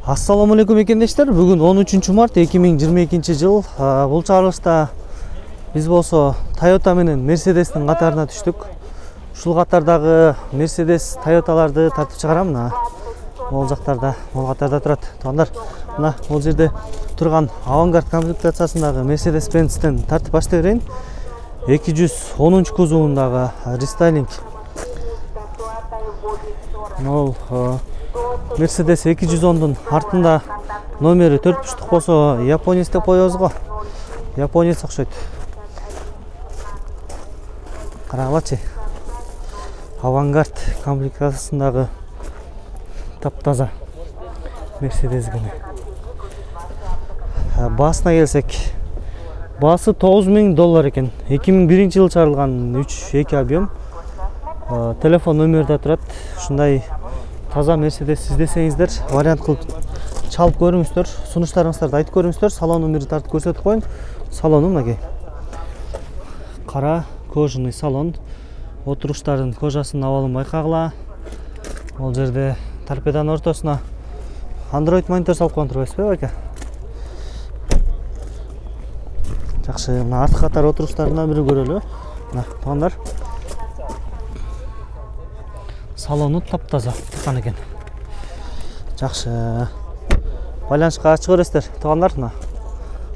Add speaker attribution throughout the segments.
Speaker 1: Assalamu alaikum ekендештер. Бүгүн 13 март 2022 жыл. Бул чыгарылышта биз болсо Toyota менен Mercedes'тин катарына түштүк. Ушул катардагы Mercedes, Toyota'ларды тартып чыгарам. Ол жактарда, ол катарда турат. Туугандар, мына бул жерде турган Avantgarde комплектациясындагы Mercedes-Benz'тен тартып баштай берейин. 210 кузовундагы рестайлинг. Ол Mercedes 210'дун артында номери 4 буштук болсо, японец деп коебуз го. Японец окшойт. Карагылачы. Avantgarde комплектациясындагы таптаза Mercedes гана. Басына келсек, баасы $9000 экен. 2001-жылы чыгарылган 3.2 объем. Телефон номери да турат. Ушундай таза Mercedes издесеңиздер, вариант кылып чалып көрүңүздөр, сунуштарыңыздарды айтып көрүңүздөр. Салон номери тартып көрсөтүп коюн. Салону мынакей. Кара кожаный салон. Отуруштардын кожасынын абалын байкагыла. Ол жерде торпеданын ортосуна Android монитор салып койгон турбайсызбы, байка? Жакшы, мына артка катар отуруштарынан бири көрөлү. Мына, туугандар. Салону таптаза чыккан экен. Жакшы. Байланышка ачык көрөсүздөр, туугандар. Мына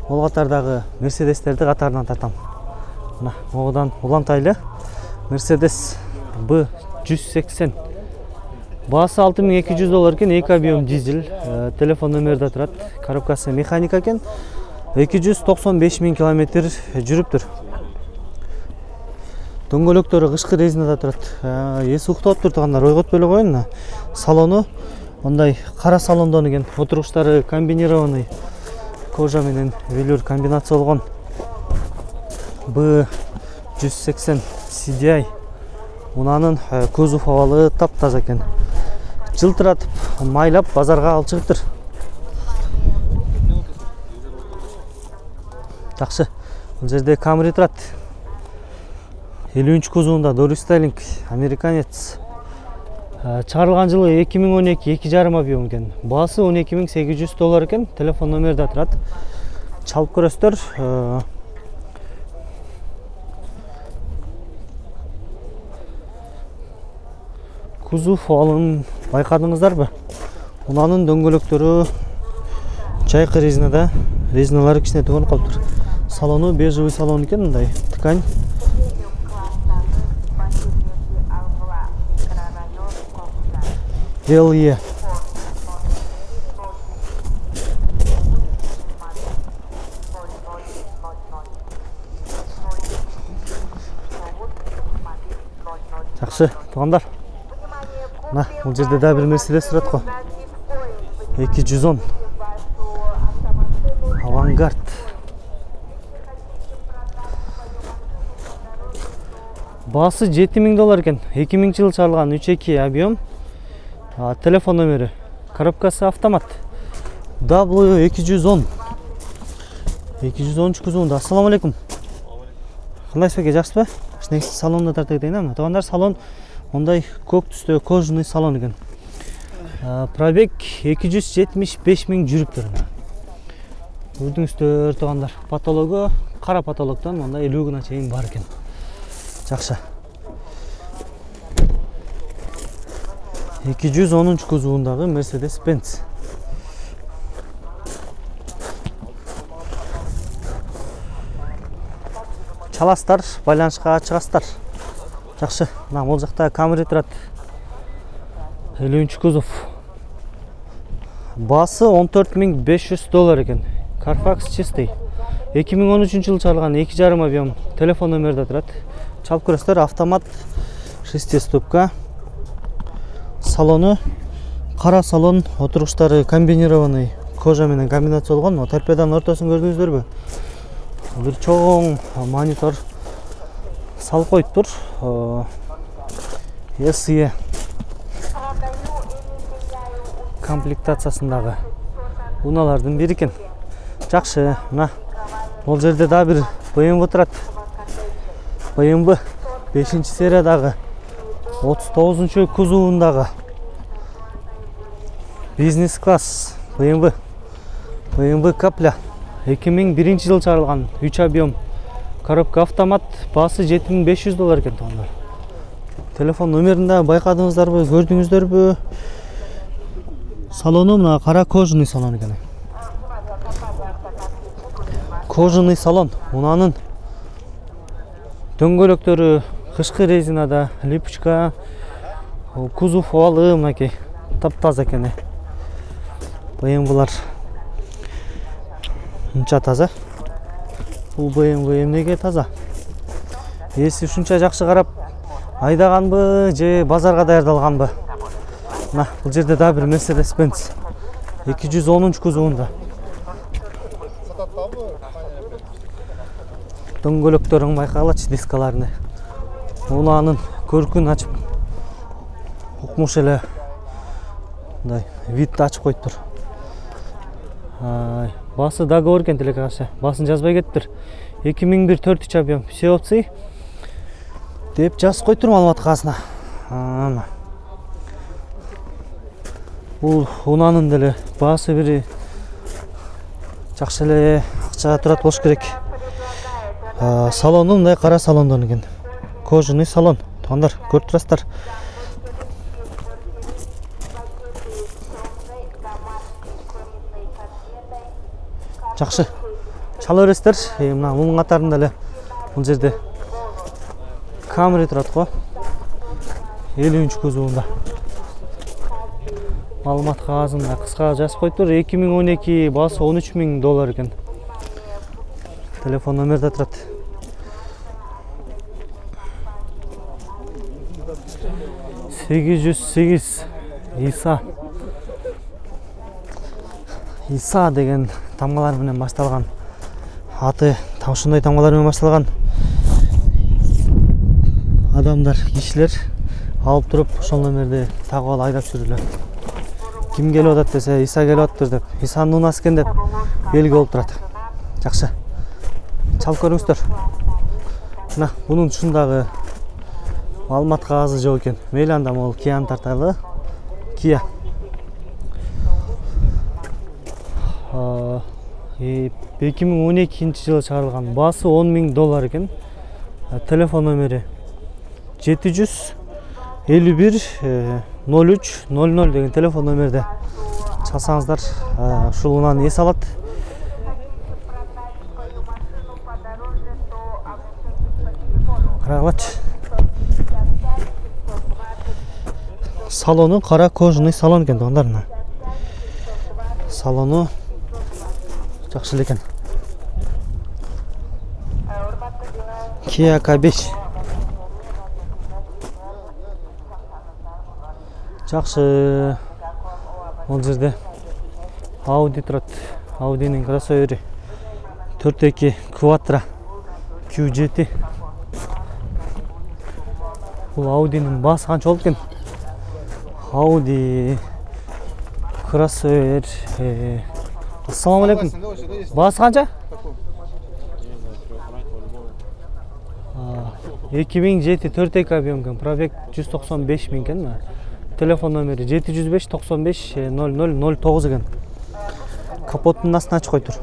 Speaker 1: ол катардагы Mercedes'терди катарынан тартам. Мына одан улантайлы. Mercedes B180. Баасы $6200 экен, 2 объем дизель. Телефон номери да турат. Коробкасы механика экен. 295 000 км жүрүптүр. Дөңгөлөктөрү кышкы резинада турат. Эси уктап тургандар, ойготпой эле коюн. Салону мындай кара салондон экен. Отуруштары комбинированный кожа менен велюр комбинация болгон. B180 CDI. Мунанын кузов абалы таптаза экен. Жылтыратып, майлап базарга алып чыгыптыр. Жакшы. Бул жерде Camry турат. 50 кузовунда дорестайлинг, американец. Чыгарылган жылы 2012, 2,5 объем экен. Баасы $12800 экен. Телефон номери да турат. Чалып көрөсүздөр. Кузов абалын байкадыңыздарбы? Унанын дөңгөлөктөрү жайкы резинада, резиналары кичине төгөнүп калыптыр. Салону бежевый салон экен, мындай ткань. LE. Жакшы, туугандар. Мына, бул жерде да бир Mercedes турат го. 210. Avantgarde. Баасы $7000 экен. 2000-жылы чыгарылган 3.2 объем. Телефон номери. Коробкасы автомат. W210. 213 кузовунда. Ассаламу алейкум. Кандайсыз беке, жакшысызбы? Негизи салонда тартып кетейин. Туугандар, салон мындай көк түстө кожаный салон экен. Пробег 275 000 жүрүптүр. Көрдүңүздөр, туугандар. Потологу кара потологдон мындай 50 гана чейин бар экен. Жакшы. 210 кузовундагы Mercedes-Benz. Чаластар, байланышка чыгасыздар. Жакшы. Мына бул жакта Camry турат. 50 кузов. Баасы $14500 экен. Carfax чистый. 2013-жылы чыгарылган 2,5 объем. Телефон номери да турат. Чалып көрөсүздөр. Автомат, 6 ступка. Салону кара салон, отуруштары комбинированный кожа менен комбинация болгон. Торпеданын ортосун көрдүңүздөрбү? Бир чоң монитор салып коюптур. SE комплектациясындагы унаалардын бири экен. Жакшы. Мына бул жерде да бир BMW турат. BMW 5-сериядагы 39 кузовундагы бизнес класс BMW Капля 2001-жылы чыгарылган 3 объем коробка автомат, баасы $7500 экен туугандар. Телефон номерин да байкадыңыздарбы, көрдүңүздөрбү? Салону мына кара кожаный салон экен. Кожаный салон. Мунанын дөңгөлөктөрү кышкы резинада, липучка, кузов овалы мынакей таптаза экен. BMW-лар мынча таза. Бул BMW эмнеге таза? Эси ушунча жакшы карап айдаганбы же базарга даярдалганбы? Мына бул жерде да бир Mercedes-Benz 210 кузовунда. Дөңгөлөктөрүн байкагалачы, дискаларыны. Уланын көркүн ачып укмуш эле мындай витти ачып коюптур. Баасы договор экен телекаша. Баасын жазбай кетиптир. 2001 4 объем все опции деп жазып коюптур маалымат кагазына. Бул унанын деле баасы бири жакшы эле акчага турат болуш керек. Салону мындай кара салондон экен. Кожаный салон. Туугандар, көрүп турасыздар. Жакшы. Чала бересиздер. Мына мунун катарында эле бул жерде Camry турат го. 50 кузовунда. Маалымат кагазында кыска жазып коюптур. 2012, баасы $13000 экен. Телефон номерде турат. $808 Иса деген тамгалар менен башталган. Аты ушундай тамгалар менен башталган. Адамдар, кишилер алып туруп ошол номерди тагып алып айдап жүрүлөт. Ким келип атат десе, Иса келип атыптыр деп, Исанын унасы экен деп белги болуп турат. Жакшы. Чалып көрүңүздөр. Мына бунун ушундагы маалымат кагазы жок экен. Мейли анда могул Кияны тарталы. Кия. 2012-жылы чыгарылган. Баасы $10,000 экен. Телефон номери 751 03 00 деген телефон номерде чалсаңыздар, ушул унаны эс алат. Карагалачы. Салону кара кожаный салон экен туугандар. Салону жакшы эле экен. Kia K5. Жакшы. Бул жерде Audi турат. Audi'нин кроссовери 4.2 Quattro Q7. Бул Audi'нин баасы канча болот экен? Audi кроссовер. Ассаламу алейкум. Баасы канча? 2007 4.2 объем экен. Пробег 195 000 экен. Телефон номери 705 95 0009 экен. Капоттун астына ачып коюптур.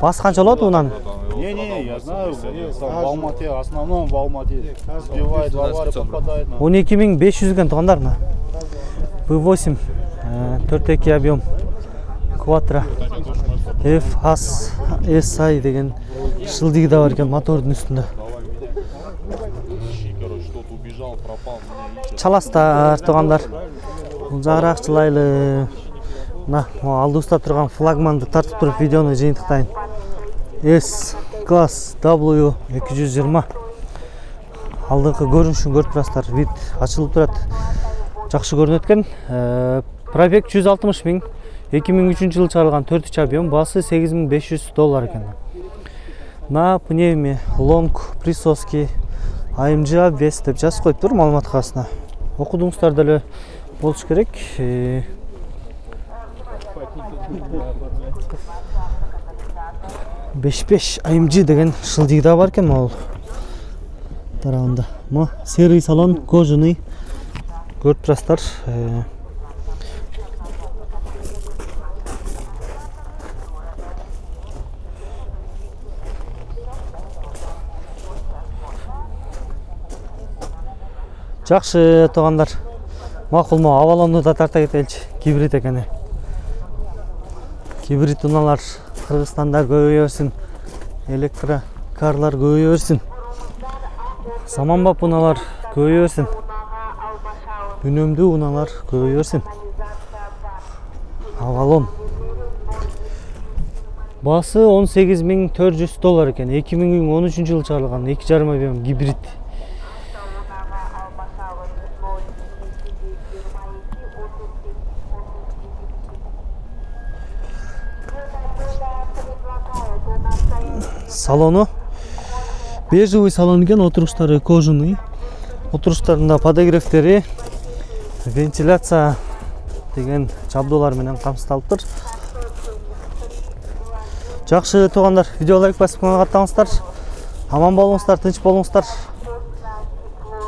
Speaker 1: Баасы канча болот унан?
Speaker 2: Не, я знаю, в Алмате, основном в Алмате. Сбивает, в аварию попадает.
Speaker 1: 12500 экен туугандар. V8 4.2 объем Quattro FSI деген шылдыгы да бар экен мотордун үстүндө. Чаластар туугандар. Бул жагыраак чылайлы. Мына алдыбызда турган флагманды тартып туруп видеону жыйынтыктайын. S-Class W220. Алдыңкы көрүнүшүн көрүп турасыздар. Вид ачылып турат. Жакшы көрүнөт экен. Пробег 160 000. 2003-жылы чыгарылган 4 объем, баасы $8500 экен. На пневме long присоски AMG обвес деп жазып коюптур маалымат кагазына. Окудуңуздар деле болуш керек. 5 AMG деген шылдыгы да бар экен могул тарабында. Мо серый салон, кожаный. Көрүп турасыздар. Жакшы туугандар. Макулму, авалонду да тарта кетеличи. Гибрид экен. Гибрид унаалар Кыргызстанда көбөйө берсин. Электрокарлар көбөйө берсин. Саманбап унаалар көбөйө берсин. Үнөмдүү унаалар көбөйө берсин. Авалон. Баасы $18.400 экен. 2013-жылы чыгарылган 2,5 объем гибрид. Салону бежевый салон экен, отуруштары кожаный. Отуруштарында подогревтери, вентиляция деген жабдуулар менен камсыздалыптыр. Жакшы туугандар, видео лайк басып каттаңыздар. Аман болуңуздар, тынч болуңуздар.